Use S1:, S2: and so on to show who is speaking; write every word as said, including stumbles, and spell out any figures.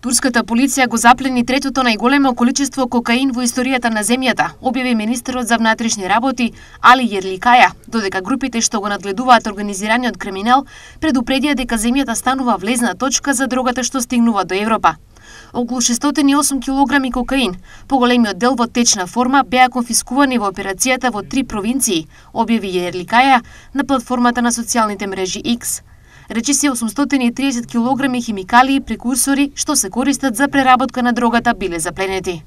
S1: Турската полиција го заплени третото најголемо количество кокаин во историјата на земјата, објави министерот за внатрешни работи Али Јерликаја, додека групите што го надгледуваат организираниот криминал предупредија дека земјата станува влезна точка за дрогата што стигнува до Европа. Околу шестстотини и осум килограми кокаин, поголемиот дел во течна форма, беа конфискувани во операцијата во три провинции, објави Јерликаја на платформата на социјалните мрежи X. Речиси осумстотини и триесет килограми химикали и прекурсори што се користат за преработка на дрогата биле запленети.